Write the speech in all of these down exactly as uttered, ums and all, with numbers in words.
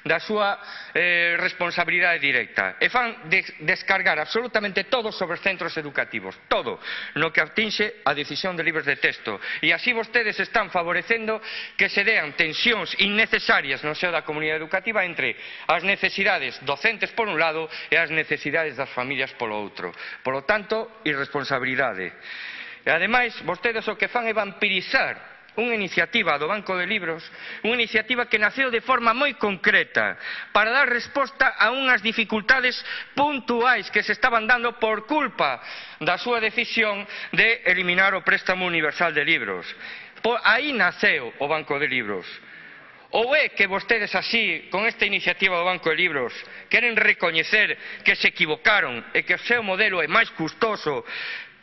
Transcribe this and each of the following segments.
da súa eh, responsabilidade directa e fan de descargar absolutamente todo sobre os centros educativos, todo, no que atinxe a decisión de libros de texto. E así vostedes están favorecendo que se dean tensións innecesarias no seo da comunidade educativa entre as necesidades docentes por un lado e as necesidades das familias polo outro. Polo tanto, irresponsabilidade. E ademais, vostedes o que fan é vampirizar unha iniciativa do Banco de Libros, unha iniciativa que naceu de forma moi concreta para dar resposta a unhas dificultades puntuais que se estaban dando por culpa da súa decisión de eliminar o préstamo universal de libros. Por aí naceu o Banco de Libros. Ou é que vostedes así, con esta iniciativa do Banco de Libros, queren recoñecer que se equivocaron e que o seu modelo é máis custoso,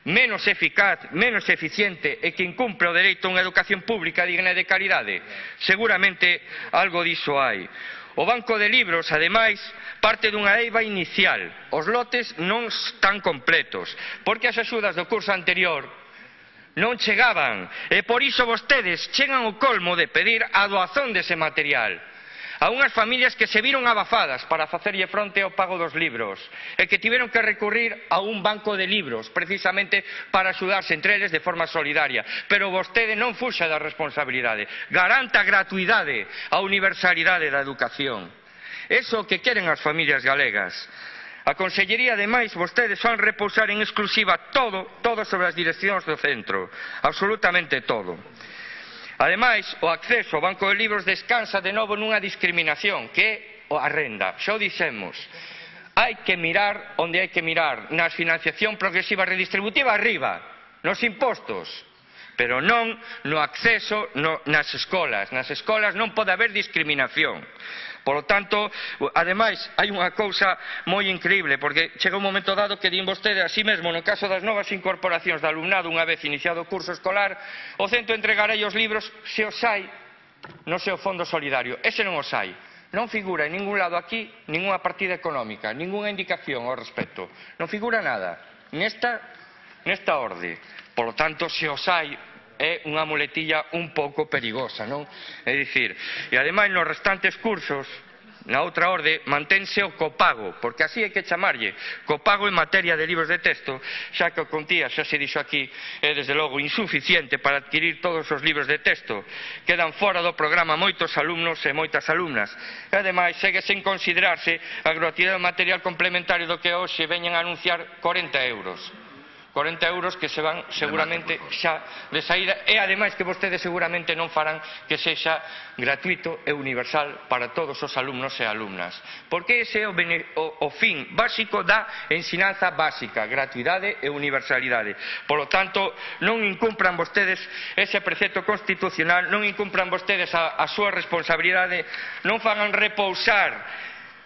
menos eficaz, menos eficiente e que incumpre o dereito a unha educación pública digna e de calidade? Seguramente algo diso hai. O Banco de Libros, ademais, parte dunha eiva inicial. Os lotes non están completos, porque as axudas do curso anterior non chegaban, e por iso vostedes chegan ao colmo de pedir a doazón dese material a unhas familias que se viron abafadas para facerlle fronte ao pago dos libros e que tiveron que recurrir a un banco de libros precisamente para axudarse entre eles de forma solidaria. Pero vostede non fuxa da responsabilidade, garanta a gratuidade, a universalidade da educación. Eso é o que queren as familias galegas. A Consellería, ademais, vostedes fan repousar en exclusiva todo, todo sobre as direccións do centro, absolutamente todo. Ademais, o acceso ao Banco de Libros descansa de novo nunha discriminación, que é a renda. Xa o dixemos, hai que mirar onde hai que mirar, na financiación progresiva redistributiva arriba, nos impostos, pero non no acceso no, nas escolas. Nas escolas non pode haber discriminación. Por lo tanto, ademais, hai unha cousa moi increíble, porque chega un momento dado que din vostede, así mesmo, no caso das novas incorporacións de alumnado unha vez iniciado o curso escolar, o centro entregará os libros se os hai no seu fondo solidario. Ese non os hai. Non figura en ningún lado aquí ninguna partida económica, ninguna indicación ao respecto. Non figura nada nesta, nesta orde. Por lo tanto, se os hai, é unha muletilla un pouco perigosa, non? É dicir, e ademais nos restantes cursos, na outra orde, mantense o copago, porque así hai que chamarlle, copago en materia de libros de texto, xa que o contía, xa se dixo aquí, é desde logo insuficiente para adquirir todos os libros de texto. Quedan fora do programa moitos alumnos e moitas alumnas. E ademais, segue sen considerarse a gratuidade do material complementario do que hoxe veñen a anunciar corenta euros. corenta euros que se van seguramente xa de saída e ademais que vostedes seguramente non farán que sexa gratuito e universal para todos os alumnos e alumnas, porque ese é o, o, o fin básico da ensinanza básica, gratuidade e universalidade. Por lo tanto, non incumpran vostedes ese precepto constitucional, non incumpran vostedes a, a súa responsabilidade, non fagan repousar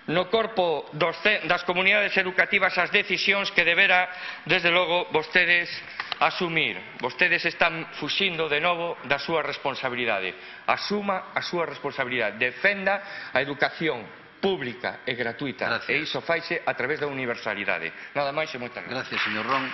no corpo dos, das comunidades educativas as decisións que debera, desde logo, vostedes asumir. Vostedes están fuxindo de novo da súa responsabilidade. Asuma a súa responsabilidade. Defenda a educación pública e gratuita. Gracias. E iso faise a través da universalidade. Nada máis e moitas gracias. Gracias, señor Ron.